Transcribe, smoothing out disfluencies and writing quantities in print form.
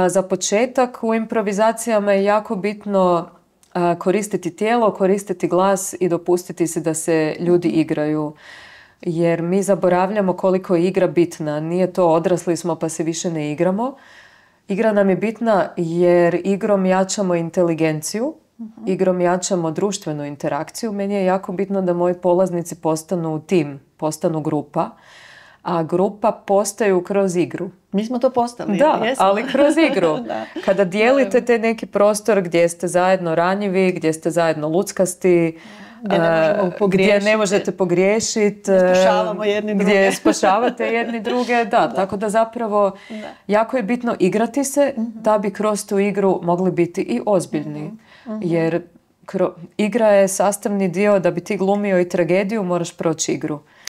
Za početak u improvizacijama je jako bitno koristiti tijelo, koristiti glas i dopustiti se da se ljudi igraju. Jer mi zaboravljamo koliko je igra bitna. Nije to odrasli smo pa se više ne igramo. Igra nam je bitna jer igrom jačamo inteligenciju, igrom jačamo društvenu interakciju. Meni je jako bitno da moji polaznici postanu tim, postanu grupa, a grupa postaju kroz igru. Mi smo to postali. Da, jesmo. ali kroz igru. Kada dijelite te neki prostor gdje ste zajedno ranjivi, gdje ste zajedno luckasti, gdje ne možete pogriješiti, gdje spašavate jedni druge. Tako da zapravo jako je bitno igrati se da bi kroz tu igru mogli biti i ozbiljni. Jer igra je sastavni dio, da bi ti glumio i tragediju, moraš proći igru.